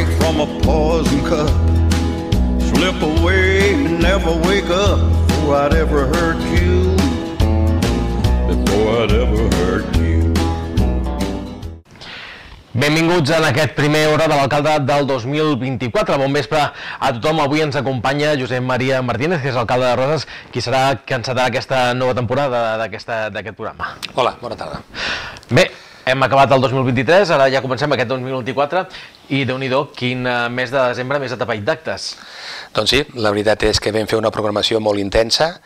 drink from a poison cup, slip away and never wake up before I'd ever hurt you, before I'd ever hurt you. Benvinguts en aquest primer hora de l'alcalde del 2024. Bon vespre a tothom. Avui ens acompanya Josep Maria Martínez, que és alcalde de Roses, qui serà que encetarà aquesta nova temporada d'aquest programa. Hola, bona tarda. Bé, hem acabat el 2023, ara ja comencem aquest 2024 i déu-n'hi-do, quin mes de desembre més atapeït d'actes. Doncs sí, la veritat és que vam fer una programació molt intensa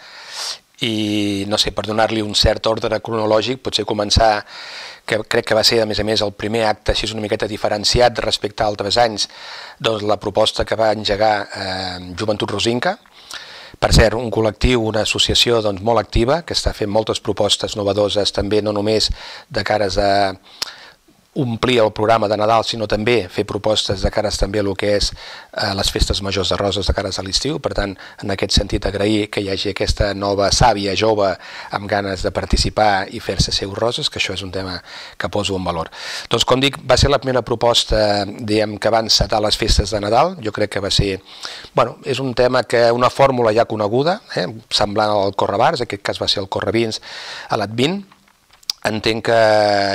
i, no sé, per donar-li un cert ordre cronològic, potser començar, que crec que va ser, a més, el primer acte així una miqueta diferenciat respecte a altres anys, doncs la proposta que va engegar Joventut Rosinca. Per cert, un col·lectiu, una associació doncs, molt activa, que està fent moltes propostes novedoses, també no només de cares a omplir el programa de Nadal, sinó també fer propostes de cares també a el que és les festes majors de Roses de cares a l'estiu. Per tant, en aquest sentit, agrair que hi hagi aquesta nova sàvia jove amb ganes de participar i fer-se seu Roses, que això és un tema que poso en valor. Doncs, com dic, va ser la primera proposta, diguem, que va encetar les festes de Nadal. Jo crec que va ser, bueno, és un tema que una fórmula ja coneguda, semblant al Correbars, en aquest cas va ser el Correvins a l'Advint. Entenc que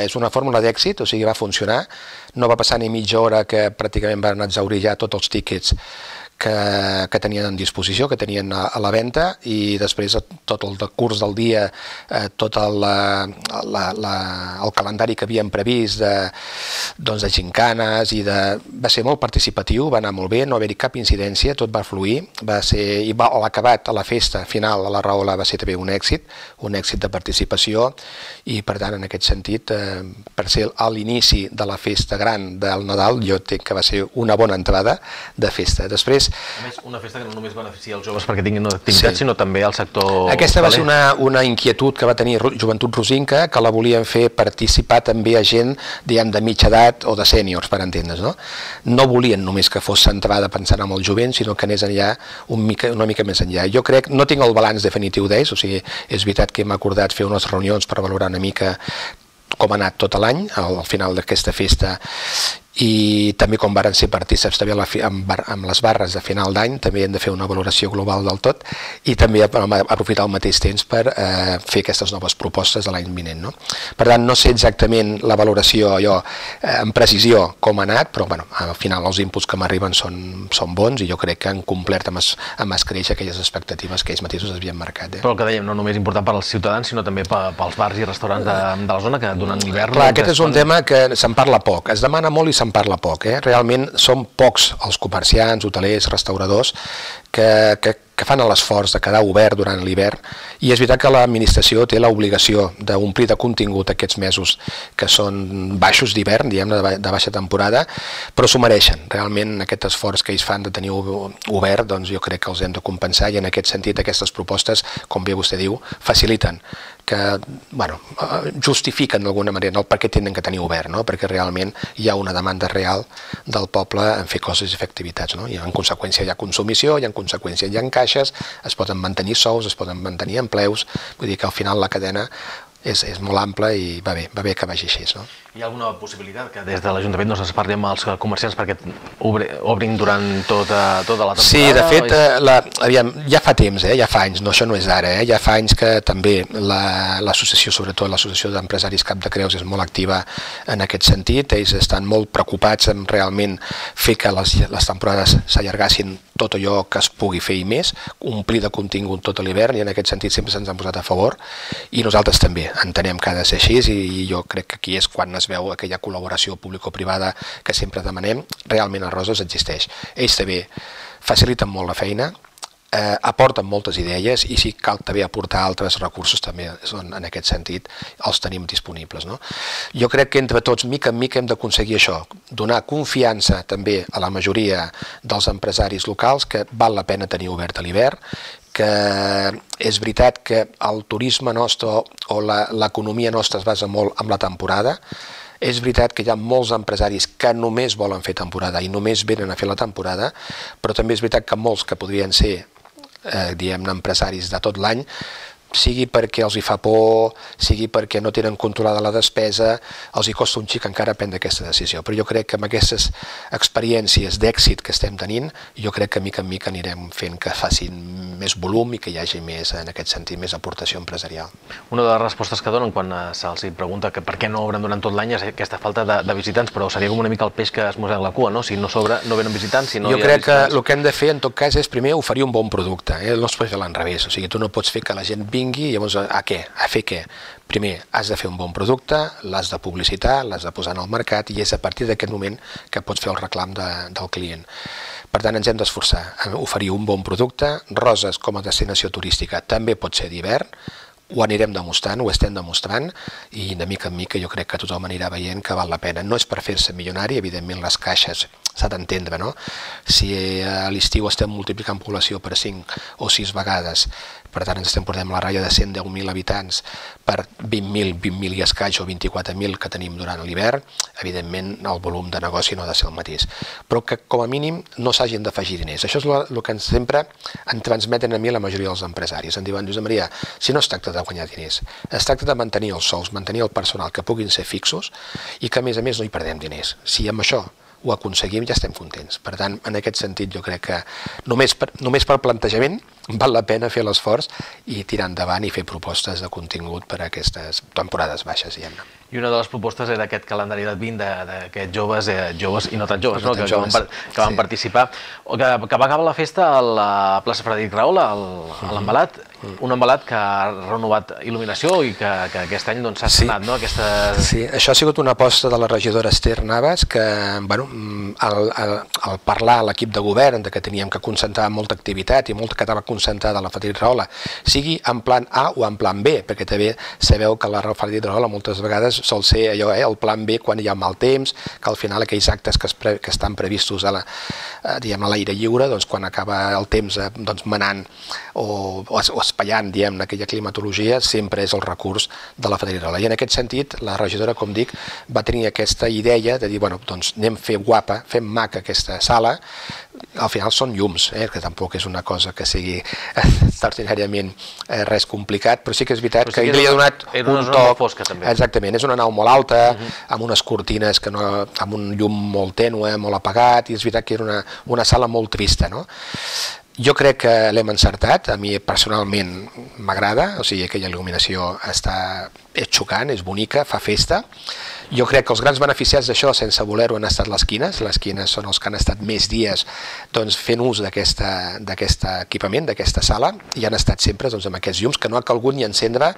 és una fórmula d'èxit, o sigui, va funcionar. No va passar ni mitja hora que pràcticament van exhaurir ja tots els tíquets que tenien en disposició, que tenien a la venda, i després tot el curs del dia, tot el calendari que havíem previst de gincanes, va ser molt participatiu, va anar molt bé, no va haver-hi cap incidència, tot va fluir, i l'acabat a la festa final a la Rahola va ser també un èxit de participació, i per tant, en aquest sentit, per ser a l'inici de la festa gran del Nadal, jo entenc que va ser una bona entrada de festa. Després, a més, una festa que no només beneficia els joves perquè tinguin activitat, sinó també al sector... Aquesta va ser una inquietud que va tenir Joventut Rosinca, que la volien fer participar també a gent, diguem, de mitja edat o de sèniors, per entendre's, no? No volien només que fos centrada pensant en el jovent, sinó que anés enllà, una mica més enllà. Jo crec, no tinc el balanç definitiu d'ells, o sigui, és veritat que hem acordat fer unes reunions per valorar una mica com ha anat tot l'any, al final d'aquesta festa, i també com varen ser partícips també amb les barres de final d'any, també hem de fer una valoració global del tot, i també aprofitar al mateix temps per fer aquestes noves propostes de l'any vinent. Per tant, no sé exactament la valoració amb precisió com ha anat, però al final els inputs que m'arriben són bons, i jo crec que han complert amb escreix aquelles expectatives que ells mateixos havien marcat. Però el que dèiem, no només important per als ciutadans, sinó també pels bars i restaurants de la zona, que durant l'hivern... Clar, aquest és un tema que se'n parla poc, es demana molt i se'n parla poc. Realment són pocs els comerciants, hotelers, restauradors que fan l'esforç de quedar obert durant l'hivern, i és veritat que l'administració té l'obligació d'omplir de contingut aquests mesos que són baixos d'hivern, diguem, de baixa temporada, però s'ho mereixen. Realment aquest esforç que ells fan de tenir obert, doncs jo crec que els hem de compensar, i en aquest sentit aquestes propostes, com bé vostè diu, faciliten, que justifiquen d'alguna manera el per què tenen que tenir obert, perquè realment hi ha una demanda real del poble en fer coses i fer activitats, i en conseqüència hi ha consumició, i en conseqüència hi ha caixes, es poden mantenir sous, es poden mantenir empleus, vull dir que al final la cadena és molt ampla i va bé que vagi així. Hi ha alguna possibilitat que des de l'Ajuntament no se'ls parli amb els comerciants perquè obrin durant tota la temporada? Sí, de fet, ja fa temps, ja fa anys, això no és d'ara, ja fa anys que també l'associació, sobretot l'associació d'empresaris Cap de Creus, és molt activa en aquest sentit. Ells estan molt preocupats en realment fer que les temporades s'allargassin tot allò que es pugui fer i més, omplir de contingut tot l'hivern, i en aquest sentit sempre se'ns han posat a favor, i nosaltres també entenem que ha de ser així, i jo crec que aquí és quan es veu aquella col·laboració público-privada que sempre demanem. Realment a Roses existeix. Ells també faciliten molt la feina, aporten moltes idees, i si cal també aportar altres recursos també en aquest sentit els tenim disponibles. Jo crec que entre tots, mica en mica, hem d'aconseguir això, donar confiança també a la majoria dels empresaris locals que val la pena tenir obert a l'hivern, que és veritat que el turisme nostre o l'economia nostra es basa molt en la temporada. És veritat que hi ha molts empresaris que només volen fer temporada i només venen a fer la temporada, però també és veritat que molts que podrien ser, diguem-ne, empresaris de tot l'any, sigui perquè els hi fa por, sigui perquè no tenen controlada la despesa, els hi costa un xic encara prendre aquesta decisió. Però jo crec que amb aquestes experiències d'èxit que estem tenint, jo crec que mica en mica anirem fent que facin més volum i que hi hagi més, en aquest sentit, més aportació empresarial. Una de les respostes que donen quan se'ls pregunta que per què no obren durant tot l'any és aquesta falta de visitants, però seria com una mica el peix que es mossega la cua, no? Si no s'obre, no venen visitants, si no hi ha visitants... Jo crec que el que hem de fer, en tot cas, és primer oferir un bon producte, no es pot fer l'enrevés, o sigui, tu no pots fer que la gent vingui i llavors a què? A fer què? Primer, has de fer un bon producte, l'has de publicitar, l'has de posar en el mercat i és a partir d'aquest moment que pots fer el reclam del client. Per tant, ens hem d'esforçar a oferir un bon producte. Roses com a destinació turística també pot ser d'hivern, ho anirem demostrant, ho estem demostrant i de mica en mica jo crec que tothom anirà veient que val la pena. No és per fer-se milionari, evidentment les caixes s'ha d'entendre, no? Si a l'estiu estem multiplicant població per 5 o 6 vegades, per tant ens estem portant la ratlla de 110.000 habitants per 20.000 i escaig o 24.000 que tenim durant l'hivern, evidentment el volum de negoci no ha de ser el mateix. Però que com a mínim no s'hagin d'afegir diners. Això és el que sempre em transmeten a mi la majoria dels empresaris. Em diuen, Josep Maria, si no es tracta de guanyar diners, es tracta de mantenir els sous, mantenir el personal que puguin ser fixos i que a més no hi perdem diners. Si amb això ho aconseguim ja estem contents. Per tant, en aquest sentit jo crec que només per plantejament val la pena fer l'esforç i tirar endavant i fer propostes de contingut per a aquestes temporades baixes, diguem-ne. I una de les propostes era aquest calendari d'Advent d'aquests joves i no tan joves, que van participar, que va acabar la festa a la plaça Frederic Rahola, a l'Envelat, un envelat que ha renovat il·luminació i que aquest any s'ha estrenat, no? Sí, això ha sigut una aposta de la regidora Esther Navas, que al parlar a l'equip de govern que teníem que concentrar molta activitat i molt que estava concentrada a la Frederic Rahola, sigui en plan A o en plan B, perquè també sabeu que la Frederic Rahola moltes vegades sol ser allò, el plan B quan hi ha mal temps, que al final aquells actes que estan previstos a l'aire lliure, quan acaba el temps manant o espaiant aquella climatologia, sempre és el recurs de la Frederic Rahola. I en aquest sentit, la regidora, com dic, va tenir aquesta idea de dir, anem a fer guapa, fem maca aquesta sala. Al final són llums, que tampoc és una cosa que sigui extraordinàriament res complicat, però sí que és veritat que li ha donat un toc. Exactament, és una nau molt alta, amb unes cortines, amb un llum molt tènue, molt apagat, i és veritat que era una sala molt trista, no? Jo crec que l'hem encertat, a mi personalment m'agrada, o sigui, aquella il·luminació és xocant, és bonica, fa festa. Jo crec que els grans beneficiats d'això, sense voler-ho, han estat les quines són els que han estat més dies fent ús d'aquest equipament, d'aquesta sala, i han estat sempre amb aquests llums, que no ha calgut ni encendre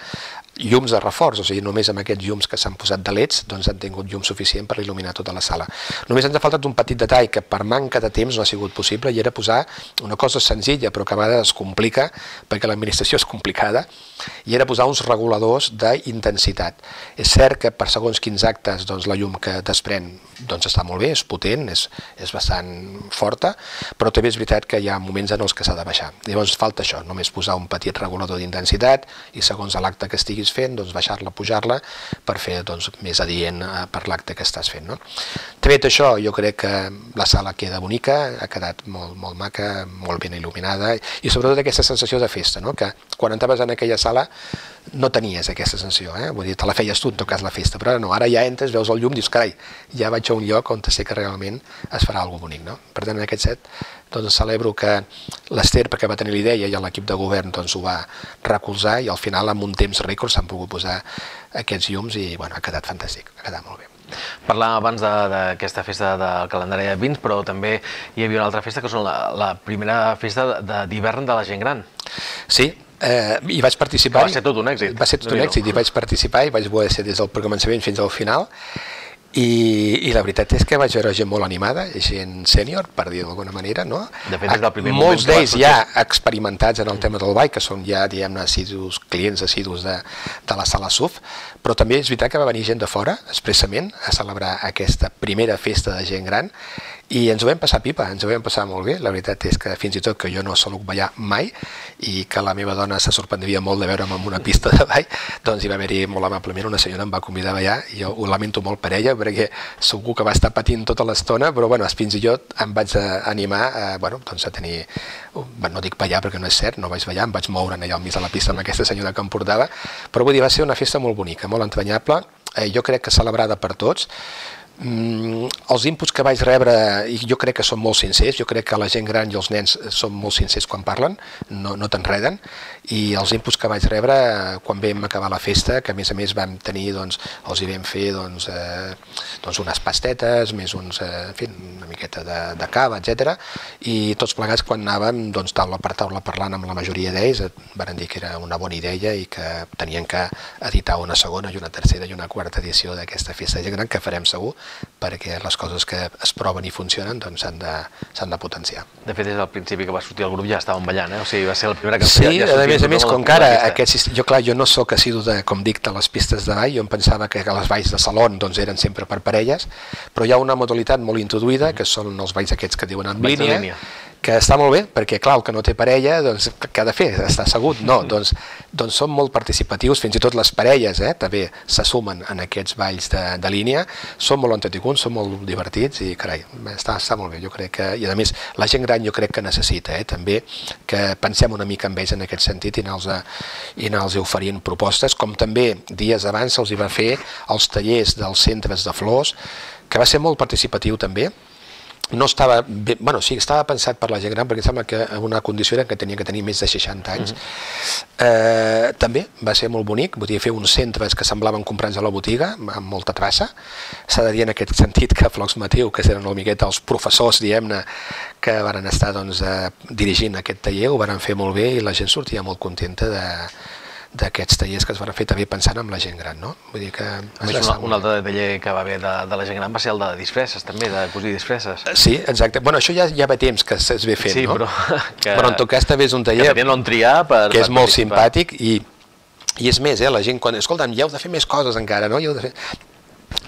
llums de reforç, o sigui, només amb aquests llums que s'han posat de leds han tingut llum suficient per il·luminar tota la sala. Només ens ha faltat un petit detall que per manca de temps no ha sigut possible, i era posar una cosa senzilla però que a vegades es complica perquè l'administració és complicada, i era posar uns reguladors d'intensitat. És cert que per segons quins actes la llum que desprèn està molt bé, és potent, és bastant forta, però també és veritat que hi ha moments en els que s'ha de baixar. Llavors falta això, només posar un petit regulador d'intensitat i segons l'acte que estiguis fent, baixar-la, pujar-la, per fer més adient per l'acte que estàs fent. Tret això, jo crec que la sala queda bonica, ha quedat molt maca, molt ben il·luminada, i sobretot aquesta sensació de festa, que quan entraves en aquella sala no tenies aquesta sensació, vull dir, te la feies tu en tot cas la festa, però ara no, ara ja entres, veus el llum, dius, carai, ja vaig a un lloc on sé que realment es farà alguna cosa bonic, no? Per tant, en aquest set, celebro que l'Ester, perquè va tenir la idea, i l'equip de govern ho va recolzar, i al final, amb un temps rècord, s'han pogut posar aquests llums i, ha quedat fantàstic, ha quedat molt bé. Parlàvem abans d'aquesta festa del calendari de vins, però també hi havia una altra festa, que és la primera festa d'hivern de la gent gran. Sí, hi vaig participar. Va ser tot un èxit. Va ser tot un èxit, hi vaig participar, i vaig voler ser des del començament fins al final, i la veritat és que vaig veure gent molt animada, gent sènior, per dir d'alguna manera, no? De fet, des del primer moment... Molts d'ells ja experimentats en el tema del ball, que són ja, diguem-ne, clients assidus de la sala SUF, però també és veritat que va venir gent de fora, expressament, a celebrar aquesta primera festa de gent gran, I ens ho vam passar pipa, ens ho vam passar molt bé. La veritat és que fins i tot que jo no sóc ballar mai i que la meva dona se sorprendria molt de veure'm en una pista de ball, doncs hi va haver-hi molt amablement una senyora em va convidar a ballar i jo ho lamento molt per ella perquè segur que va estar patint tota l'estona, però bueno, fins i tot em vaig animar a tenir, no dic ballar perquè no és cert, no vaig ballar, em vaig moure allà al mig de la pista amb aquesta senyora que em portava, però vull dir, va ser una festa molt bonica, molt entranyable, jo crec que celebrada per tots. Els inputs que vaig rebre jo crec que són molt sincers, jo crec que la gent gran i els nens són molt sincers quan parlen, no t'enreden, i els inputs que vaig rebre quan vam acabar la festa, que a més vam tenir, els hi vam fer unes pastetes, més una miqueta de cava, etc. I tots plegats quan anàvem taula per taula parlant amb la majoria d'ells van dir que era una bona idea i que tenien que editar una segona i una tercera i una quarta edició d'aquesta festa de gent gran, que farem segur, perquè les coses que es proven i funcionen s'han de potenciar. De fet, des del principi que va sortir el grup ja estàvem ballant, o sigui, va ser la primera cançó. Sí, a més, com que ara, jo no sóc assidu, com dic, de les pistes de ball, jo em pensava que les balls de salon eren sempre per parelles, però hi ha una modalitat molt introduïda, que són els balls aquests que diuen en línia, que està molt bé, perquè clar, el que no té parella, què ha de fer? Està assegut? No, doncs són molt participatius, fins i tot les parelles també se sumen en aquests balls de línia, són molt entretinguts, són molt divertits i carai, està molt bé, jo crec que, i a més la gent gran jo crec que necessita també que pensem una mica amb ells en aquest sentit i anar-los oferint propostes, com també dies abans se'ls va fer els tallers dels centres de flors, que va ser molt participatiu també. No estava bé, sí, estava pensat per la gent gran perquè em sembla que una condició era que tenia que tenir més de 60 anys. També va ser molt bonic, vull dir, fer uns centres que semblaven comprats a la botiga, amb molta traça. S'ha de dir en aquest sentit que Flocs Matiu, que eren una miqueta els professors, diguem-ne, que van estar dirigint aquest taller, ho van fer molt bé i la gent sortia molt contenta d'aquests tallers que es van fer també pensant en la gent gran, no? Vull dir que... Un altre taller que va haver de la gent gran va ser el de disfresses, també, de cosir disfresses. Sí, exacte. Bueno, això ja va temps que es ve fent, no? Però en tot cas també és un taller que és molt simpàtic i és més, la gent quan... Escolta'm, ja heu de fer més coses encara, no?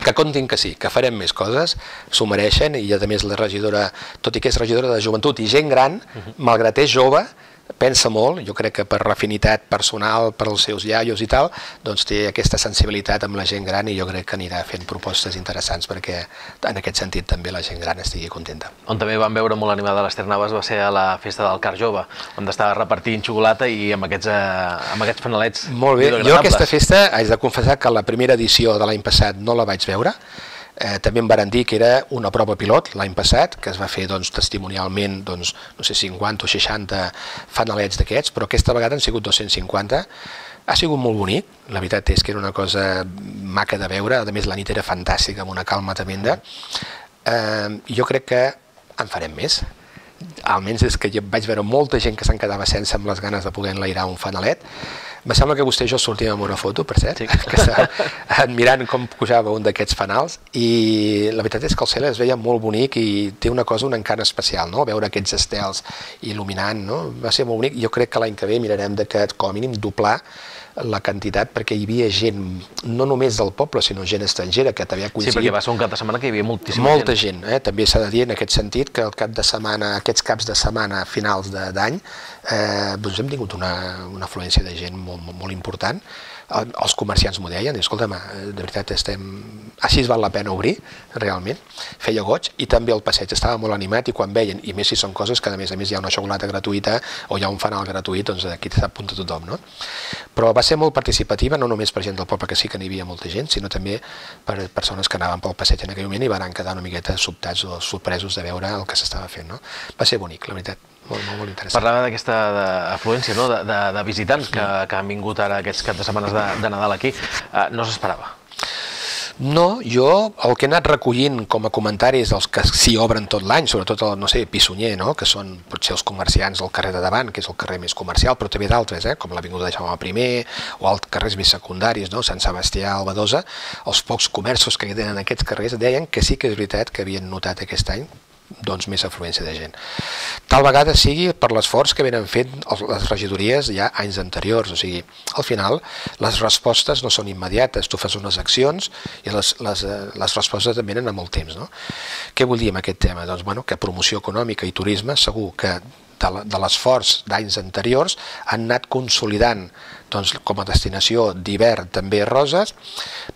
Que comptin que sí, que farem més coses, s'ho mereixen i a més la regidora, tot i que és regidora de joventut i gent gran, malgrat és jove, pensa molt, jo crec que per l'afinitat personal, per als seus iaios i tal, doncs té aquesta sensibilitat amb la gent gran i jo crec que anirà fent propostes interessants perquè en aquest sentit també la gent gran estigui contenta. On també vam veure molt animada l'Ester Navas va ser a la festa del Car Jove, on estava repartint xocolata i amb aquests panelets. Molt bé, jo aquesta festa haig de confessar que la primera edició de l'any passat no la vaig veure. També em van dir que era una prova pilot l'any passat, que es va fer testimonialment, no sé, 50 o 60 fanalets d'aquests, però aquesta vegada han sigut 250. Ha sigut molt bonic, la veritat és que era una cosa maca de veure, a més la nit era fantàstica, amb una calma tremenda. Jo crec que en farem més. Almenys és que jo vaig veure molta gent que se'n quedava sense amb les ganes de poder enlairar un fanalet. Me sembla que vostè i jo sortíem amb una foto, per cert, que estava admirant com pujava un d'aquests fanals i la veritat és que el cel es veia molt bonic i té una un encant especial, no? Veure aquests estels il·luminant, no? Va ser molt bonic. Jo crec que l'any que ve mirarem de que com a mínim doblar la quantitat perquè hi havia gent, no només del poble, sinó gent estrangera que també ha coincidit. Sí, perquè va ser un cap de setmana que hi havia moltíssima gent. Molta gent, també s'ha de dir en aquest sentit que el cap de setmana, aquests caps de setmana finals d'any, doncs hem tingut una afluència de gent molt important. Els comerciants m'ho deien, escolta'm, de veritat així val la pena obrir, realment, feia goig, i també el passeig estava molt animat i quan veien, i més si són coses que a més hi ha una xocolata gratuïta o hi ha un fanal gratuït, doncs aquí s'apunta tothom, no? Però va ser molt participativa, no només per gent del poble, que sí que n'hi havia molta gent, sinó també per persones que anaven pel passeig en aquell moment i van quedar una miqueta sobtats o sorpresos de veure el que s'estava fent, no? Va ser bonic, la veritat. Molt interessant. Parlava d'aquesta afluència de visitants que han vingut ara aquests caps de setmanes de Nadal aquí. No s'esperava? No, jo el que he anat recollint com a comentaris dels que s'hi obren tot l'any, sobretot el, no sé, Pissunyer, que són potser els comerciants del carrer de davant, que és el carrer més comercial, però també d'altres, com l'Avinguda de Jaume I o els carrers més secundaris, Sant Sebastià, Albadosa, els pocs comerços que hi tenen en aquests carrers deien que sí que és veritat que havien notat aquest any doncs, més afluència de gent. Tal vegada sigui per l'esforç que venen fent les regidories ja anys anteriors, o sigui, al final les respostes no són immediates, tu fas unes accions i les respostes també venen amb el temps, no? Què vull dir amb aquest tema? Doncs, bueno, que promoció econòmica i turisme segur que de l'esforç d'anys anteriors han anat consolidant doncs, com a destinació d'hivern també Roses,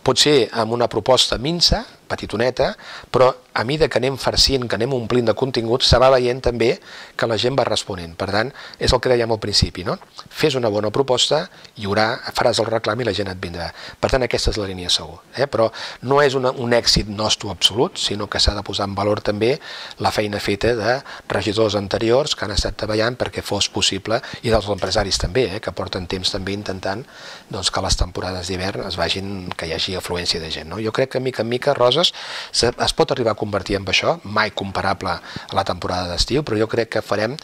potser amb una proposta minsa, petitoneta, però a mesura que anem farcint, que anem omplint de contingut, se va veient també que la gent va responent. Per tant, és el que dèiem al principi, no? Fes una bona proposta, hi haurà, faràs el reclam i la gent et vindrà. Per tant, aquesta és la línia segur. Però no és un èxit nostre absolut, sinó que s'ha de posar en valor també la feina feta de regidors anteriors que han estat treballant perquè fos possible, i dels empresaris també, que porten temps també intentant doncs, que les temporades d'hivern es vagin, que hi hagi afluència de gent. Jo crec que mica en mica Roses es pot arribar a convertir en això, mai comparable a la temporada d'estiu, però jo crec que farem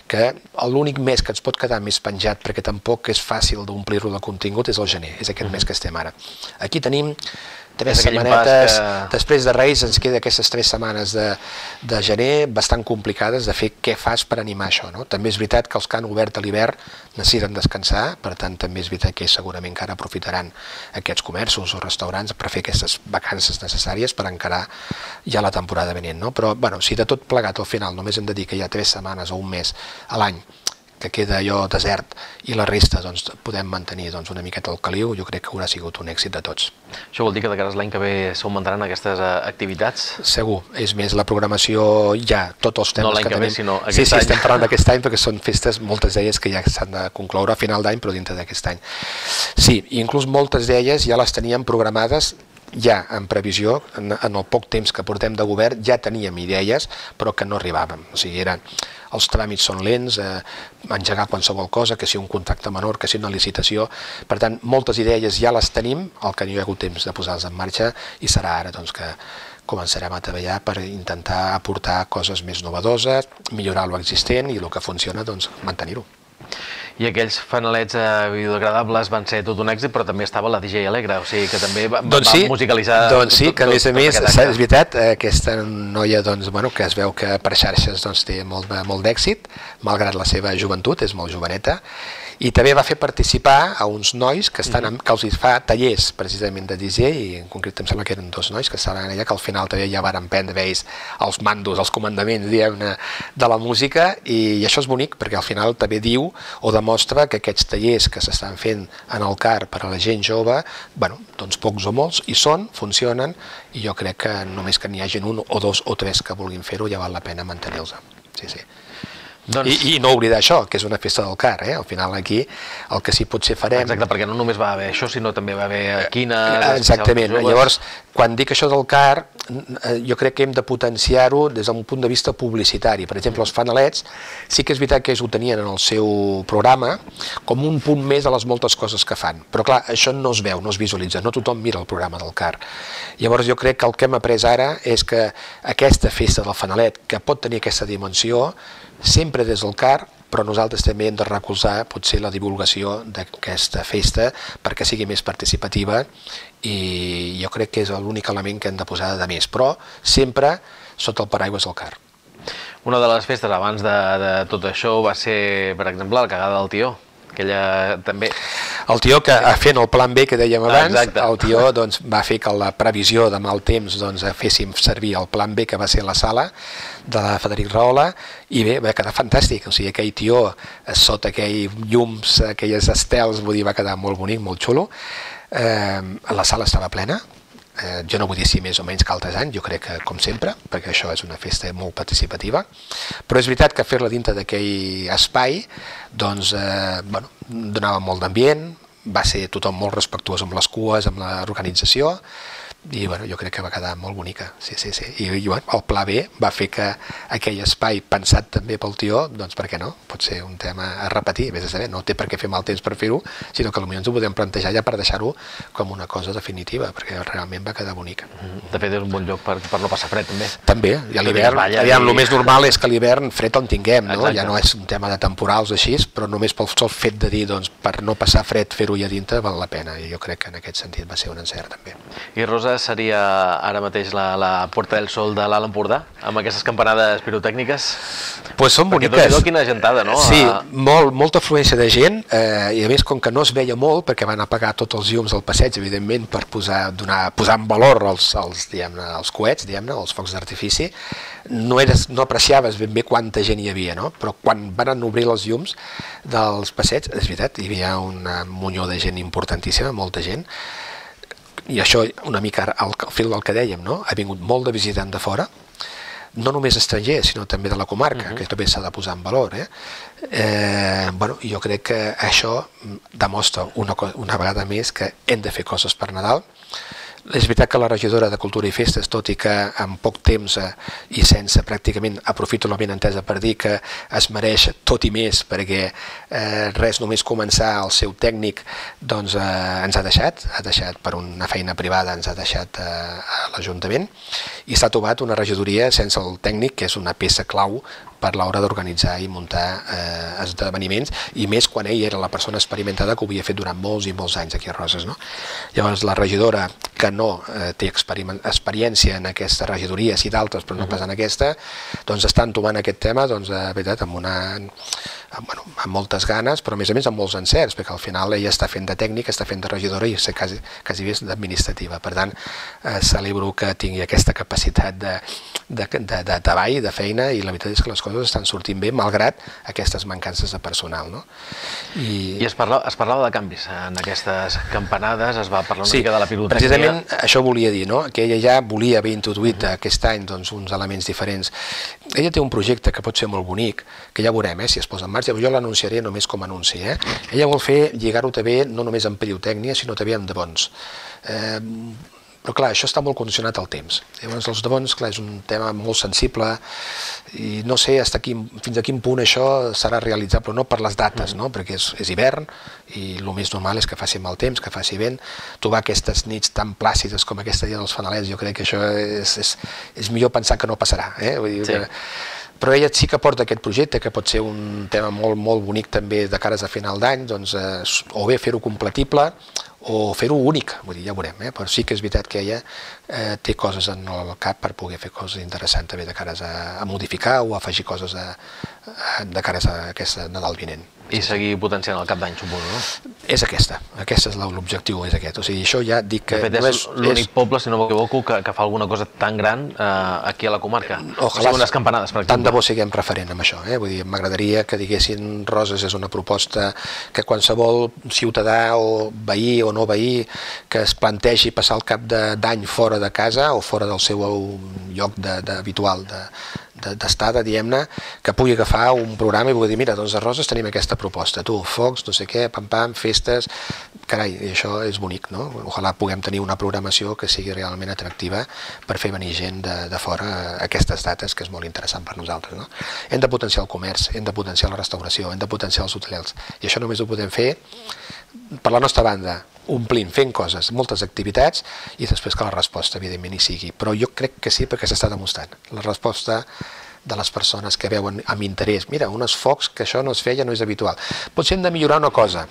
que l'únic mes que ens pot quedar més penjat, perquè tampoc és fàcil d'omplir-lo de contingut, és el gener, és aquest mes que estem ara. Aquí tenim 3 setmanetes, després de Reis ens queda aquestes 3 setmanes de gener bastant complicades de fer què fas per animar això. També és veritat que els que han obert a l'hivern necessiten descansar, per tant també és veritat que segurament encara aprofitaran aquests comerços o restaurants per fer aquestes vacances necessàries per encarar ja la temporada venent. Però si de tot plegat al final només hem de dir que hi ha 3 setmanes o un mes a l'any que queda allò desert i la resta podem mantenir una miqueta el caliu, jo crec que haurà sigut un èxit de tots. Això vol dir que de cara a l'any que ve s'augmentaran aquestes activitats? Segur, és més, la programació ja, tots els temes que tenim... No l'any que ve, sinó aquest any. Sí, estem parlant d'aquest any perquè són festes, moltes d'elles que ja s'han de concloure a final d'any, però dintre d'aquest any. Sí, inclús moltes d'elles ja les teníem programades ja en previsió, en el poc temps que portem de govern ja teníem idees, però que no arribàvem. O sigui, els tràmits són lents, engegar qualsevol cosa, que sigui un contracte menor, que sigui una licitació. Per tant, moltes idees ja les tenim, el que no hi ha hagut temps de posar-les en marxa, i serà ara que començarem a treballar per intentar aportar coses més novedoses, millorar l'existent i el que funciona, mantenir-ho. I aquells fanalets biodegradables van ser tot un èxit, però també estava la DJ Alegre, o sigui que també va musicalitzar... Doncs sí, que a més, és veritat, aquesta noia que es veu que per xarxes té molt d'èxit, malgrat la seva joventut, és molt joveneta, i també va fer participar a uns nois que els fa tallers precisament de DJ, i en concret em sembla que eren 2 nois que estaven allà, que al final també ja van prendre ells els mandos, els comandaments de la música, i això és bonic perquè al final també diu o demostra que aquests tallers que s'estan fent en el CAR per a la gent jove, pocs o molts hi són, funcionen, i jo crec que només que n'hi hagi 1 o 2 o 3 que vulguin fer-ho ja val la pena mantenir-los. Sí, sí. I no oblidar això, que és una festa del CAR, al final aquí el que sí potser farem... Exacte, perquè no només va haver això, sinó també va haver quines... Exactament, llavors quan dic això del CAR jo crec que hem de potenciar-ho des d'un punt de vista publicitari. Per exemple, els fanalets sí que és veritat que ells ho tenien en el seu programa com un punt més de les moltes coses que fan, però clar, això no es veu, no es visualitza, no tothom mira el programa del CAR. Llavors jo crec que el que hem après ara és que aquesta festa del fanalet, que pot tenir aquesta dimensió, sempre des del CAR, però nosaltres també hem de recolzar potser la divulgació d'aquesta festa perquè sigui més participativa, i jo crec que és l'únic element que hem de posar de més, però sempre sota el paraigües del CAR. Una de les festes abans de tot això va ser, per exemple, la cagada del Tió. Aquella també... El Tió, que fent el plan B que dèiem abans, el Tió va fer que la previsió de mal temps féssim servir el plan B que va ser la sala de la Frederic Rahola, i bé, va quedar fantàstic. O sigui, aquell Tió sota aquells llums, aquelles estels, vull dir, va quedar molt bonic, molt xulo. La sala estava plena. Jo no vull dir si més o menys que altres anys, jo crec que com sempre, perquè això és una festa molt participativa, però és veritat que fer-la dintre d'aquell espai donava molt d'ambient, va ser tothom molt respectuós amb les cues, amb l'organització, i jo crec que va quedar molt bonica. I el pla B va fer que aquell espai pensat també pel Tió, doncs per què no? Pot ser un tema a repetir, vés a saber, no té per què fer mal temps per fer-ho, sinó que potser ens ho podem plantejar ja per deixar-ho com una cosa definitiva, perquè realment va quedar bonica. De fet és un bon lloc per no passar fred també. També, i a l'hivern, el més normal és que a l'hivern fred en tinguem, ja no és un tema de temporals així, però només pel sol fet de dir, per no passar fred fer-ho ja dintre val la pena, i jo crec que en aquest sentit va ser un encert també. I Rosa, Roses seria ara mateix la Puerta del Sol de l'Alt Empordà, amb aquestes campanades pirotècniques? Pues són boniques. Perquè tot quina gentada, no? Sí, molta afluència de gent, i a més, com que no es veia molt, perquè van apagar tots els llums al passeig, evidentment, per posar en valor els coets, els focs d'artifici, no apreciaves ben bé quanta gent hi havia, no? Però quan van obrir els llums dels passeigs, és veritat, hi havia una munyó de gent importantíssima, molta gent, i això una mica al fil del que dèiem, no? Ha vingut molt de visitant de fora, no només estrangers, sinó també de la comarca, que també s'ha de posar en valor. Jo crec que això demostra una vegada més que hem de fer coses per Nadal. És veritat que la regidora de Cultura i Festes, tot i que en poc temps i sense pràcticament, aprofito la benentesa per dir que es mereix tot i més, perquè res només començar el seu tècnic doncs ens ha deixat per una feina privada, ens ha deixat a l'Ajuntament, i s'ha trobat una regidoria sense el tècnic, que és una peça clau per l'hora d'organitzar i muntar esdeveniments, i més quan ell era la persona experimentada que ho havia fet durant molts i molts anys aquí a Roses. Llavors la regidora, que no té experiència en aquestes regidories i d'altres, però no pas en aquesta, doncs estan tomant aquest tema de veritat amb moltes ganes, però a més amb molts encerts, perquè al final ella està fent de tècnica, està fent de regidora i quasi bé d'administrativa. Per tant, celebro que tingui aquesta capacitat de treball, de feina, i la veritat és que les coses estan sortint bé, malgrat aquestes mancances de personal. I es parlava de canvis en aquestes campanades, es va parlar una mica de la pirotècnia. Precisament això volia dir, que ella ja volia haver introduït aquest any uns elements diferents. Ella té un projecte que pot ser molt bonic, que ja veurem si es posa en marxa, jo l'anunciaré només com a anunci. Ella vol lligar-ho també no només amb pirotècnia, sinó també amb debons. Però clar, això està molt condicionat al temps. Llavors els debons, clar, és un tema molt sensible i no sé fins a quin punt això serà realitzable, no per les dates, perquè és hivern i el més normal és que faci mal temps, que faci vent. Trobar aquestes nits tan plàcides com aquesta dia dels fanalets, jo crec que això és millor pensar que no passarà. Però ella sí que porta aquest projecte, que pot ser un tema molt, molt bonic també de cares a final d'any, o bé fer-ho compatible o fer-ho únic, vull dir, ja veurem, però sí que és veritat que ella té coses en el cap per poder fer coses interessants també de cares a modificar o afegir coses de cares a aquest Nadal vinent. I seguir potenciant el cap d'any, suposo, no? És és l'objectiu, és aquest. O sigui, això ja dic que... De fet, és l'únic poble, si no m'equivoco, que fa alguna cosa tan gran aquí a la comarca. Ojalà, unes campanades, per exemple. Tant de bo siguem referent amb això. Vull dir, m'agradaria que diguessin Roses és una proposta que qualsevol ciutadà o veí o no veí que es plantegi passar el cap d'any fora de casa o fora del seu lloc habitual d'estada, diguem-ne, que pugui agafar un programa i pugui dir, mira, doncs a Roses tenim aquesta proposta, focs, no sé què, pam-pam, festes, carai, i això és bonic, no? Ojalà puguem tenir una programació que sigui realment atractiva per fer venir gent de fora a aquestes dates, que és molt interessant per nosaltres, no? Hem de potenciar el comerç, hem de potenciar la restauració, hem de potenciar els hotels, i això només ho podem fer per la nostra banda, omplint, fent coses, moltes activitats, i després que la resposta, evidentment, hi sigui. Però jo crec que sí, perquè s'està demostrant. La resposta de les persones que veuen amb interès, mira, uns focs que això no es feia, no és habitual. Potser hem de millorar una cosa,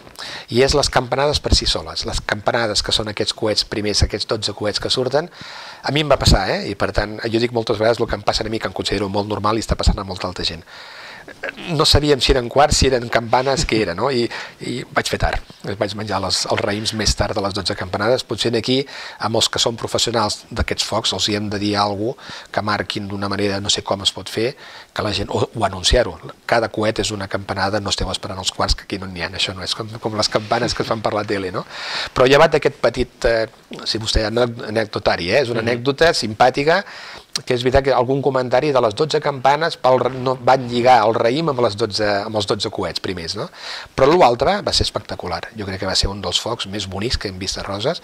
i és les campanades per si soles. Les campanades que són aquests coets primers, aquests 12 coets que surten, a mi em va passar, i per tant, jo dic moltes vegades el que em passa a mi, que em considero molt normal i està passant a molta altra gent. No sabíem si eren quarts, si eren campanes, què era, no? I vaig fer tard. Vaig menjar els raïms més tard de les 12 campanades. Potser aquí, amb els que són professionals d'aquests focs, els hi hem de dir alguna cosa que marquin d'una manera, no sé com es pot fer, que la gent, o anunciar-ho. Cada coet és una campanada, no esteu esperant els quarts, que aquí no n'hi ha. Això no és com les campanes que es fan per la tele, no? Però llevat d'aquest petit, si vostè anecdotari, és una anècdota simpàtica, que és veritat que algun comentari de les 12 campanes van lligar el raïm amb els 12 coets primers, no? Però l'altre va ser espectacular. Jo crec que va ser un dels focs més bonics que hem vist a Roses.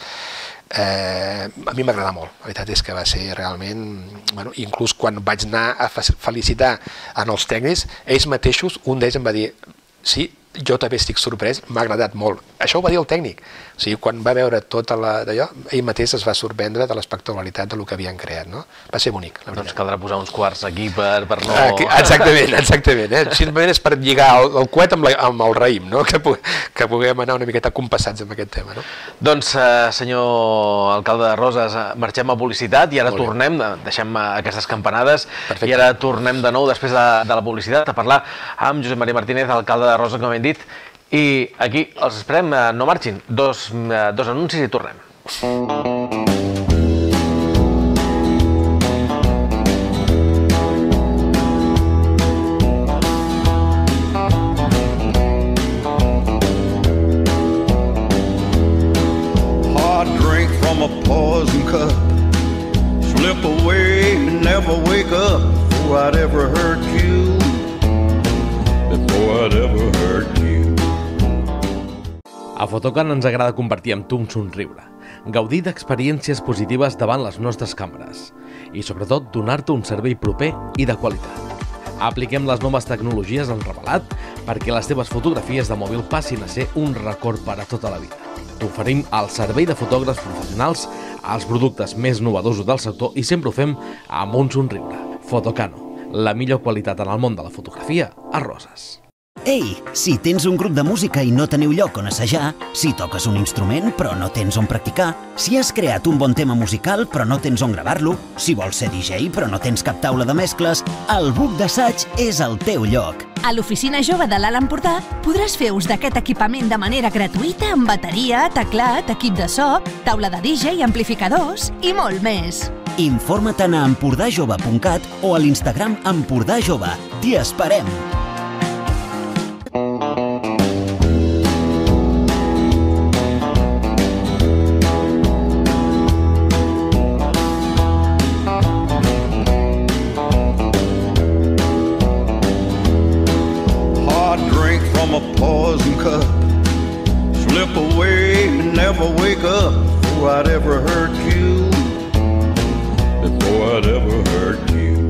A mi m'agrada molt. La veritat és que va ser realment... Inclús quan vaig anar a felicitar en els tècnics, ells mateixos, un d'ells em va dir sí, jo també estic sorprès, m'ha agradat molt. Això ho va dir el tècnic. O sigui, quan va veure tota d'allò, ell mateix es va sorprendre de l'espectacularitat del que havien creat, no? Va ser bonic, la veritat. Doncs caldrà posar uns quarts aquí per no... Exactament. Simplement és per lligar el coet amb el raïm, no? Que puguem anar una miqueta compassats amb aquest tema, no? Doncs, senyor alcalde de Roses, marxem a publicitat i ara tornem, deixem aquestes campanades, i ara tornem de nou, després de la publicitat, a parlar amb Josep Maria Martínez, alcalde de Roses, com hem dit, i aquí els esperem, no marxin, dos anuncis i tornem. Hard drink from a poison cup, slip away and never wake up before I'd ever hurt you, before I'd ever hurt you. A Fotocan ens agrada compartir amb tu un somriure, gaudir d'experiències positives davant les nostres càmeres i, sobretot, donar-te un servei proper i de qualitat. Apliquem les noves tecnologies en revelat perquè les teves fotografies de mòbil passin a ser un record per a tota la vida. T'oferim el servei de fotògrafs professionals, els productes més novedosos del sector i sempre ho fem amb un somriure. Fotocano, la millor qualitat en el món de la fotografia a Roses. Ei, si tens un grup de música i no teniu lloc on assajar, si toques un instrument però no tens on practicar, si has creat un bon tema musical però no tens on gravar-lo, si vols ser DJ però no tens cap taula de mescles, el Buc d'Assaig és el teu lloc. A l'Oficina Jove de l'Alt Empordà podràs fer ús d'aquest equipament de manera gratuïta amb bateria, teclat, equip de so, taula de DJ, amplificadors i molt més. Informa't a empordajove.cat o a l'Instagram Empordà Jove. T'hi esperem! A poison cup, slip away and never wake up before I'd ever hurt you, before I'd ever hurt you.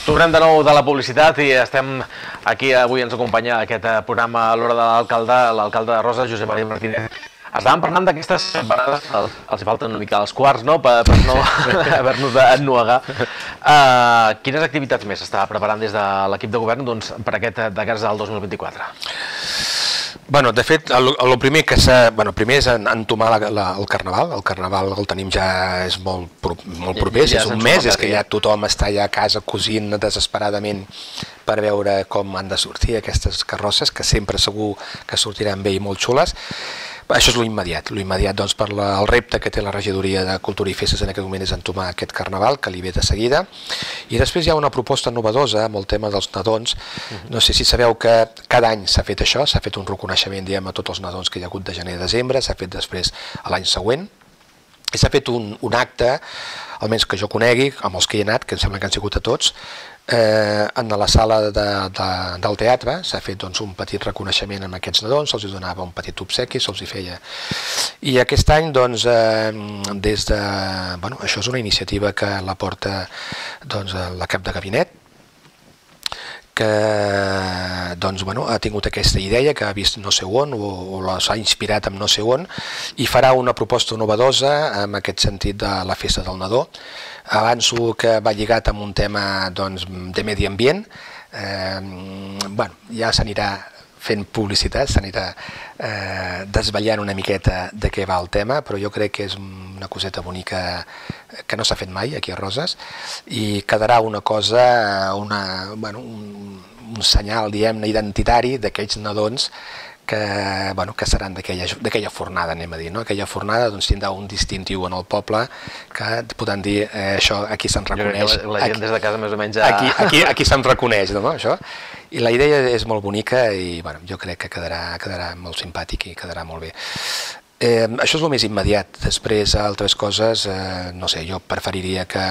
Tornem de nou de la publicitat i estem aquí, avui ens acompanya aquest programa a l'hora de l'alcalde de Roses, Josep Maria Martínez. Estàvem parlant d'aquestes parades, els hi falten una mica els quarts, no?, per no haver-nos d'ennuegar. Quines activitats més s'està preparant des de l'equip de govern per aquest de cara al 2024? Bueno, de fet, el primer que primer és entomar el Carnaval. El Carnaval el tenim ja, és molt proper, és un mes, és que ja tothom està ja a casa cosint desesperadament per veure com han de sortir aquestes carrosses, que sempre segur que sortiran bé i molt xules. Això és l'immediat, doncs per el repte que té la regidoria de Cultura i Festes en aquest moment és entomar aquest Carnaval, que li ve de seguida, i després hi ha una proposta novedosa amb el tema dels nadons. No sé si sabeu que cada any s'ha fet això, s'ha fet un reconeixement, diguem, a tots els nadons que hi ha hagut de gener a desembre, s'ha fet després a l'any següent, i s'ha fet un acte, almenys que jo conegui, amb els que hi he anat, que em sembla que han sigut a tots, en la sala del teatre s'ha fet un petit reconeixement amb aquests nadons, se'ls donava un petit obsequi, se'ls hi feia. I aquest any, des de... Això és una iniciativa que la porta la cap de gabinet, que ha tingut aquesta idea, que ha vist no sé on, o s'ha inspirat amb no sé on, i farà una proposta novedosa en aquest sentit de la festa del nadó. Avanço que va lligat amb un tema de medi ambient. Ja s'anirà fent publicitat, s'anirà desvetllant una miqueta de què va el tema, però jo crec que és una coseta bonica que no s'ha fet mai aquí a Roses i quedarà una cosa, un senyal, diguem-ne, identitari d'aquells nadons que seran d'aquella fornada, anem a dir. Aquella fornada tindrà un distintiu en el poble que podran dir això, aquí se'n reconeix. La gent des de casa més o menys... Aquí se'n reconeix, això. I la idea és molt bonica i jo crec que quedarà molt simpàtic i quedarà molt bé. Això és el més immediat. Després, altres coses, no sé, jo preferiria que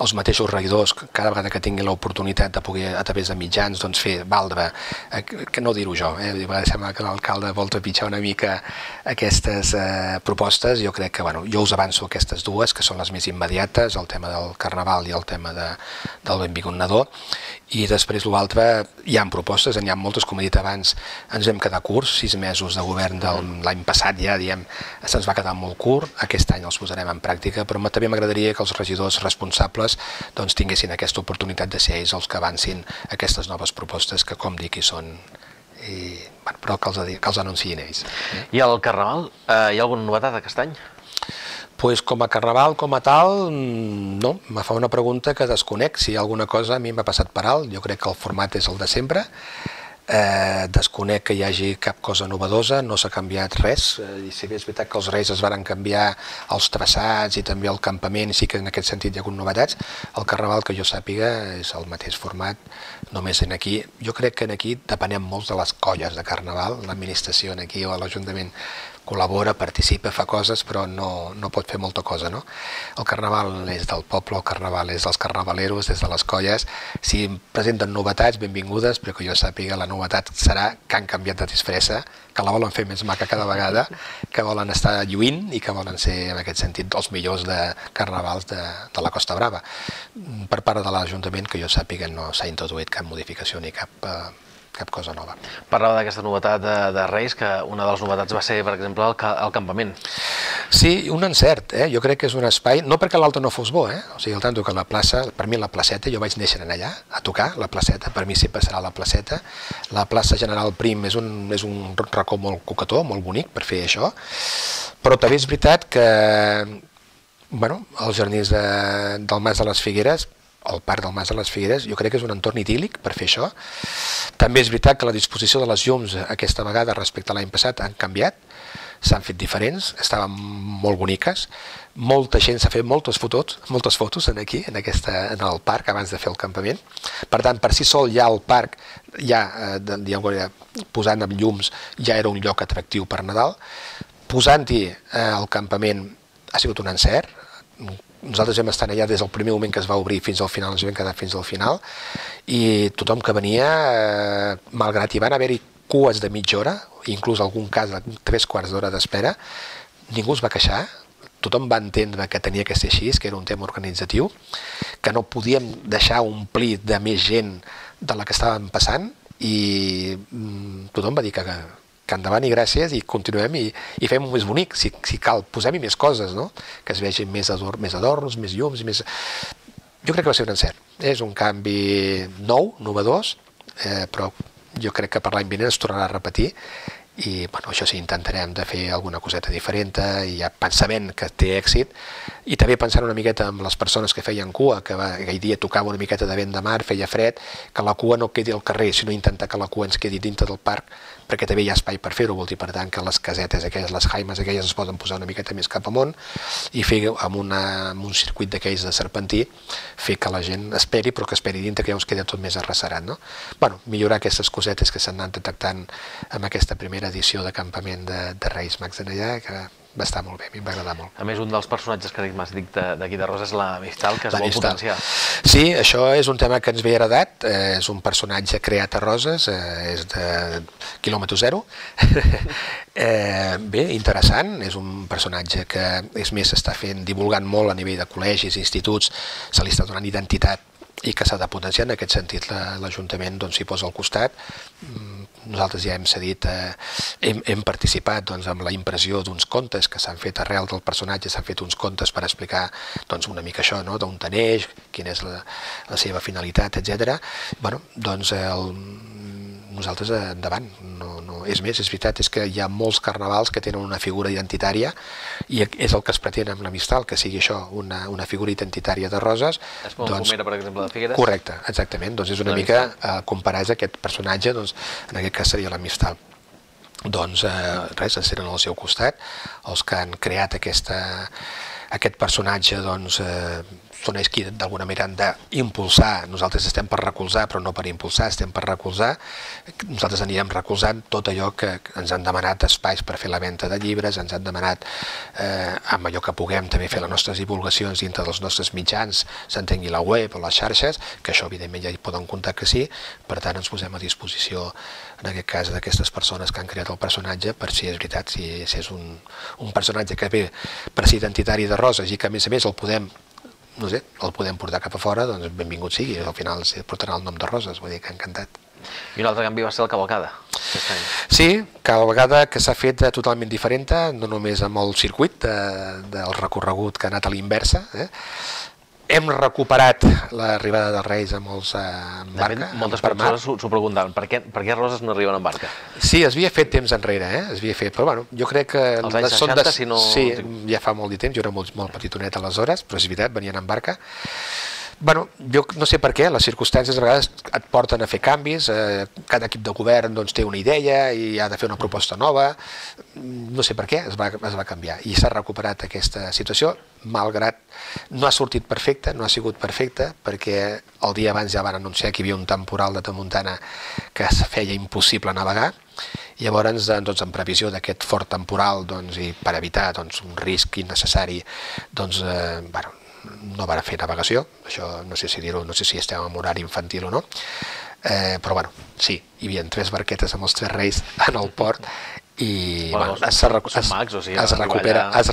els mateixos regidors, cada vegada que tinguin l'oportunitat de poder, a través de mitjans, fer valdre, que no dir-ho jo, sembla que l'alcalde vol trepitjar una mica aquestes propostes. Jo crec que, jo us avanço aquestes dues, que són les més immediates, el tema del Carnaval i el tema del Benvingut Nadó, I després l'altre, hi ha propostes, n'hi ha moltes, com he dit abans, ens vam quedar curts, 6 mesos de govern de l'any passat ja, diem, se'ns va quedar molt curt, aquest any els posarem en pràctica, però també m'agradaria que els regidors responsables doncs, tinguessin aquesta oportunitat de ser ells els que avancin aquestes noves propostes que, com dic, hi són, però que els anunciïn ells. I al Carnaval, hi ha alguna novetat aquest any? Pues com a Carnaval, com a tal, no. Me fa una pregunta que desconec. Si hi ha alguna cosa, a mi m'ha passat per alt. Jo crec que el format és el de sempre. Desconec que hi hagi cap cosa novedosa, no s'ha canviat res. I si bé és veritat que els Reis es van canviar els traçats i també el campament, sí que en aquest sentit hi ha hagut novetats, el Carnaval, que jo sàpiga, és el mateix format, només en aquí. Jo crec que en aquí depenem molt de les colles de Carnaval, l'administració en aquí o l'Ajuntament col·labora, participa, fa coses, però no pot fer molta cosa, no? El Carnaval és del poble, el Carnaval és dels carnavaleros, des de les colles. Si presenten novetats, benvingudes, però que jo sàpiga, la novetat serà que han canviat de disfressa, que la volen fer més maca cada vegada, que volen estar lluint i que volen ser, en aquest sentit, els millors de carnavals de la Costa Brava. Per part de l'Ajuntament, que jo sàpiga, no s'ha introduït cap modificació ni cap cosa nova. Parlava d'aquesta novetat de Reis, que una de les novetats va ser, per exemple, el campament. Sí, un encert, jo crec que és un espai, no perquè l'altre no fos bo, o sigui, el tanto que la plaça, per mi la placeta, jo vaig néixer allà, a tocar, la placeta, per mi sempre serà la placeta. La plaça General Prim és un racó molt coquetó, molt bonic per fer això, però també és veritat que, bueno, els jardins del Mas de les Figueres, el parc del Mas de les Figueres, jo crec que és un entorn idíl·lic per fer això. També és veritat que la disposició de les llums aquesta vegada respecte a l'any passat han canviat, s'han fet diferents, estaven molt boniques, molta gent s'ha fet moltes fotos aquí, en el parc, abans de fer el campament. Per tant, per si sol ja el parc, posant amb llums, ja era un lloc atractiu per Nadal. Posant-hi el campament ha sigut un encert. Nosaltres vam estar allà des del primer moment que es va obrir fins al final, ens vam quedar fins al final, i tothom que venia, malgrat hi van haver-hi cues de mitja hora, inclús algun cas de 3 quarts d'hora d'espera, ningú es va queixar, tothom va entendre que tenia que ser així, que era un tema organitzatiu, que no podíem deixar omplir de més gent de la que estàvem passant, i tothom va dir que endavant i gràcies, i continuem i fem-ho més bonic, si cal, posem-hi més coses, que es vegin més adorns, més llums, més... Jo crec que va ser un encert. És un canvi nou, novedós, però jo crec que per l'any vinent es tornarà a repetir, i això sí, intentarem de fer alguna coseta diferent, i ja pensament que té èxit, i també pensant una miqueta amb les persones que feien cua, que aquell dia tocava una miqueta de vent de mar, feia fred, que la cua no quedi al carrer, sinó intentar que la cua ens quedi dintre del parc, perquè també hi ha espai per fer-ho, vol dir, per tant, que les casetes aquelles, les jaimes aquelles es poden posar una miqueta més cap amunt, i fer amb un circuit d'aquells de serpentí, fer que la gent esperi, però que esperi dintre, que ja us queda tot més arrecerat, no? Bueno, millorar aquestes cosetes que s'han anat detectant amb aquesta primera edició de campament de Reis Mags en allà, que va estar molt bé, a mi em va agradar molt. A més, un dels personatges carismàtics d'aquí de Roses és la Mistral, que es vol potenciar. Sí, això és un tema que ens ve heredat, és un personatge creat a Roses, és de quilòmetre zero. Bé, interessant, és un personatge que, és més, s'està divulgant molt a nivell de col·legis, instituts, se li està donant identitat i que s'ha de potenciar. En aquest sentit l'Ajuntament s'hi posa al costat. Nosaltres ja hem cedit, hem participat amb la impressió d'uns contes que s'han fet arrel del personatge, s'han fet uns contes per explicar una mica això, d'on neix, quina és la seva finalitat, etc. Bé, doncs nosaltres endavant. És més, és veritat, és que hi ha molts carnavals que tenen una figura identitària i és el que es pretén amb la Mistral, que sigui això, una figura identitària de Roses. És com la Pomera, per exemple, de Figueres? Correcte, exactament. Doncs és una mica comparar aquest personatge, en aquest cas seria la Mistral. Doncs res, ens tenen al seu costat. Els que han creat aquest personatge són ells qui d'alguna manera han d'impulsar. Nosaltres estem per recolzar, però no per impulsar, estem per recolzar. Nosaltres anirem recolzant tot allò que ens han demanat espais per fer la venda de llibres, ens han demanat amb allò que puguem també fer les nostres divulgacions dintre dels nostres mitjans, s'entengui la web o les xarxes, que això evidentment ja hi poden comptar que sí, per tant ens posem a disposició en aquest cas d'aquestes persones que han creat el personatge, per si és veritat, si és un personatge que ve per ser identitari de Roses i que a més el podem no sé, el podem portar cap a fora, doncs benvingut sigui, al final portarà el nom de Roses, vull dir que encantat. I un altre canvi va ser la cavalcada aquest any. Sí, cada vegada que s'ha fet totalment diferent, no només amb el circuit del recorregut que ha anat a l'inversa. Hem recuperat l'arribada dels Reis amb els barca. Moltes persones s'ho preguntaven, per què Roses no arriben en barca? Sí, es havia fet temps enrere, es havia fet, però bueno, jo crec que... Els anys 60, si no... Sí, ja fa molt de temps, jo era molt petitonet aleshores, però és veritat, venien en barca. Bueno, jo no sé per què, les circumstàncies a vegades et porten a fer canvis, cada equip de govern doncs, té una idea i ha de fer una proposta nova, no sé per què es va canviar i s'ha recuperat aquesta situació, malgrat no ha sortit perfecte, no ha sigut perfecte, perquè el dia abans ja van anunciar que hi havia un temporal de tramuntana que es feia impossible navegar, i llavors, doncs, en previsió d'aquest fort temporal doncs, i per evitar doncs, un risc innecessari, doncs, bueno, no van fer navegació, això no sé si dir-ho, no sé si estem en horari infantil o no, però bueno, sí, hi havia 3 barquetes amb els 3 Reis en el port i bueno, es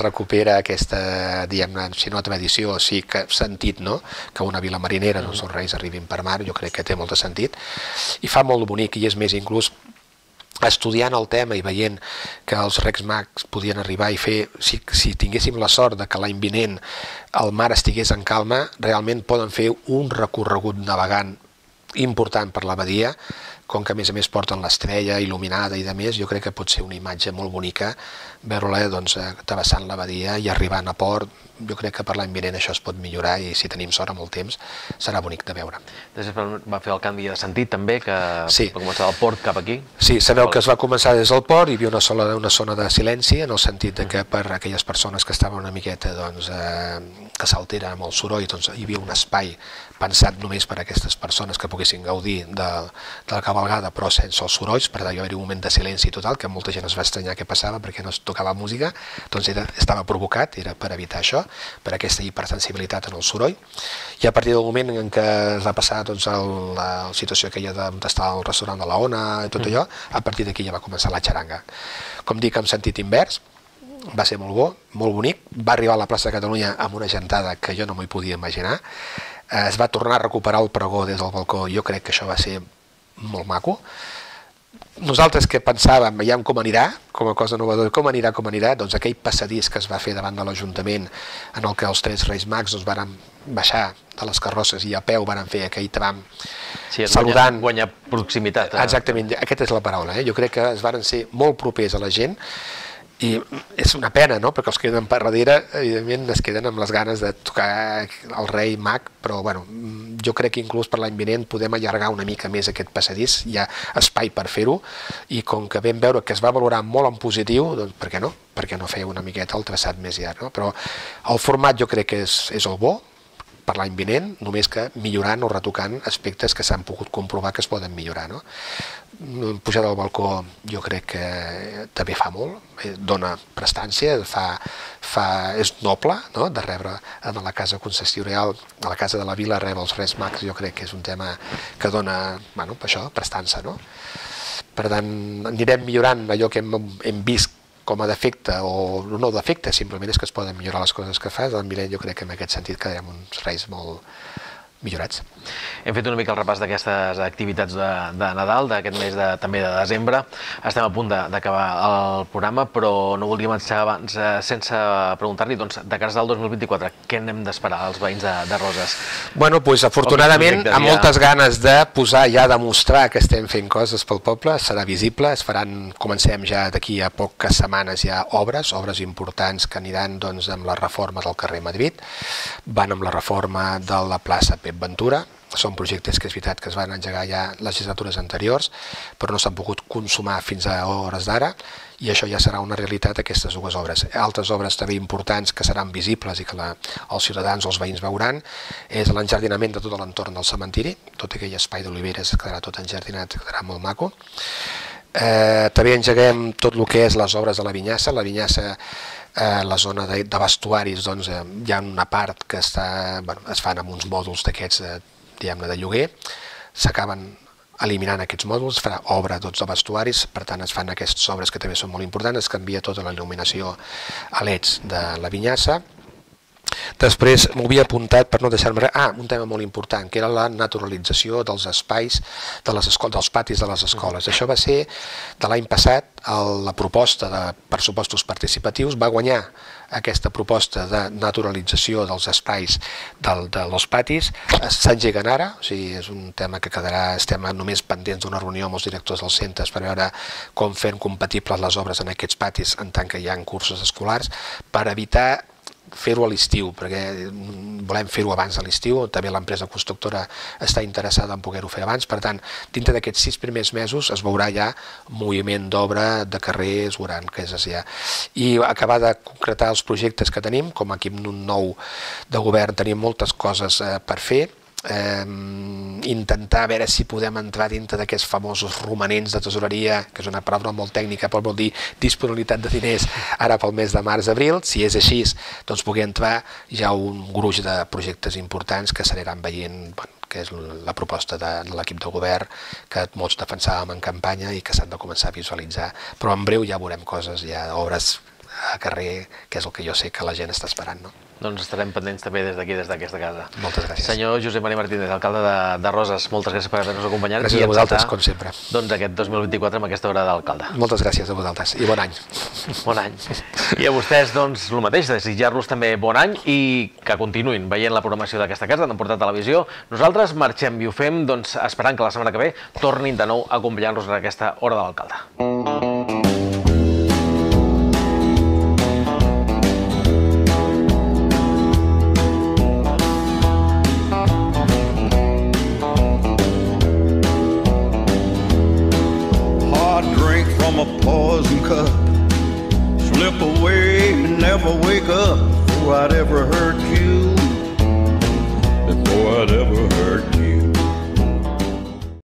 recupera aquesta, diguem-ne, si no tradició, sí que sentit, no? Que una vila marinera, doncs els Reis arribin per mar, jo crec que té molt de sentit i fa molt bonic, i és més, inclús estudiant el tema i veient que els Reis Mags podien arribar i fer, si tinguéssim la sort de que l'any vinent el mar estigués en calma, realment poden fer un recorregut navegant important per la badia, com que a més porten l'estrella il·luminada i de més, jo crec que pot ser una imatge molt bonica veure-la doncs, travessant la badia i arribant a port. Jo crec que per l'any vinent això es pot millorar i si tenim sort amb el temps serà bonic de veure. Després va fer el canvi de sentit també, que sí. Va començar del port cap aquí? Sí, sabeu que es va començar des del port, hi havia una zona de silenci, en el sentit que per aquelles persones que estaven una miqueta doncs, que s'alteren amb el soroll, doncs, hi havia un espai pensat només per a aquestes persones que poguessin gaudir de la cavalgada però sense els sorolls, per tant hi va haver un moment de silenci total que molta gent es va estranyar què passava perquè no es tocava música, doncs estava provocat, era per evitar això, per aquesta hipersensibilitat en el soroll, i a partir del moment en què es va passar doncs, la situació aquella d'estar al restaurant de la Ona i tot allò, a partir d'aquí ja va començar la xaranga. Com dic, en sentit invers, va ser molt bo, molt bonic, va arribar a la plaça de Catalunya amb una gentada que jo no m'hi podia imaginar, es va tornar a recuperar el pregó des del balcó, jo crec que això va ser molt maco. Nosaltres que pensàvem, veiem com anirà, com a cosa novedora, com anirà, doncs aquell passadís que es va fer davant de l'Ajuntament en el que els 3 Reis Mags doncs, van baixar de les carrosses i a peu van fer aquell tram saludant. Guanyar proximitat. Exactament, aquesta és la paraula. Jo crec que es van ser molt propers a la gent i és una pena, no? Perquè els que queden per darrere, evidentment, es queden amb les ganes de tocar el rei mag, però bueno, jo crec que inclús per l'any vinent podem allargar una mica més aquest passadís, hi ha espai per fer-ho, i com que vam veure que es va valorar molt en positiu, doncs per què no? Per què no fer una miqueta el traçat més llarg, no? Però el format jo crec que és el bo per l'any vinent, només que millorant o retocant aspectes que s'han pogut comprovar que es poden millorar, no? Pujar del balcó jo crec que també fa molt, dona prestància, és noble, no? De rebre a la casa concessorial, a la casa de la vila, rebre els Reis Mags, jo crec que és un tema que dona, bueno, això, prestança, no? Per tant, anirem millorant allò que hem vist com a defecte, o no defecte, simplement és que es poden millorar les coses que fas, l'any vinent jo crec que en aquest sentit quedarem uns Reis molt millorats. Hem fet una mica el repàs d'aquestes activitats de Nadal, d'aquest mes també de desembre. Estem a punt d'acabar el programa, però no voldríem marxar abans sense preguntar-li, doncs, de cara al 2024, què n'hem d'esperar als veïns de Roses? Bueno, doncs afortunadament, amb moltes ganes de posar ja, demostrar que estem fent coses pel poble, serà visible, comencem ja d'aquí a poques setmanes ja obres importants que aniran doncs amb la reforma del carrer Madrid, van amb la reforma de la plaça Pep Ventura. Són projectes que és veritat que es van engegar ja legislatures anteriors, però no s'han pogut consumar fins a hores d'ara, i això ja serà una realitat, aquestes dues obres. Altres obres també importants que seran visibles i que els ciutadans o els veïns veuran és l'enjardinament de tot l'entorn del cementiri, tot aquell espai d'oliveres quedarà tot enjardinat, quedarà molt maco. També engeguem tot el que és les obres de la Vinyassa. La Vinyassa, la zona de vestuaris, doncs, hi ha una part que es fan amb uns mòduls d'aquests, diguem-ne, de lloguer, s'acaben eliminant aquests mòduls, es farà obra de vestuaris, per tant es fan aquestes obres que també són molt importants, es canvia tota la il·luminació a LEDs de la Vinyassa. Després m'ho havia apuntat per no deixar-me res. Un tema molt important, que era la naturalització dels espais dels patis de les escoles. Això va ser de l'any passat, la proposta de pressupostos participatius va guanyar aquesta proposta de naturalització dels espais dels patis. S'engeguen ara, o sigui, és un tema que quedarà, estem només pendents d'una reunió amb els directors dels centres per veure com fer compatibles les obres en aquests patis en tant que hi ha cursos escolars, per evitar fer-ho a l'estiu, perquè volem fer-ho abans de l'estiu, també l'empresa constructora està interessada en poder-ho fer abans, per tant, dintre d'aquests 6 primers mesos es veurà ja moviment d'obra, de carrers, veuran que és ja. I acabar de concretar els projectes que tenim, com a equip nou de govern tenim moltes coses per fer, intentar veure si podem entrar dintre d'aquests famosos romanents de tesoreria, que és una paraula molt tècnica, però vol dir disponibilitat de diners ara pel mes de març-abril. Si és així, doncs pugui entrar ja un gruix de projectes importants que s'aniran veient, que és la proposta de l'equip de govern que molts defensàvem en campanya i que s'han de començar a visualitzar, però en breu ja veurem coses, ja obres a carrer, que és el que jo sé que la gent està esperant, no? Doncs estarem pendents també des d'aquí, des d'aquesta casa. Moltes gràcies. Senyor Josep Maria Martínez, alcalde de Roses, moltes gràcies per haver-nos acompanyat. Gràcies a vosaltres, com sempre. Doncs aquest 2024 amb aquesta hora d'alcalde. Moltes gràcies a vosaltres i bon any. Bon any. I a vostès, doncs, el mateix, desitjar-los també bon any i que continuïn veient la programació d'aquesta casa, d'Empordà Televisió. Nosaltres marxem i ho fem, doncs, esperant que la setmana que ve tornin de nou a acompanyar-nos en aquesta hora de l'alcalde. From a poison cup, slip away and never wake up before I'd ever hurt you, before I'd ever hurt you.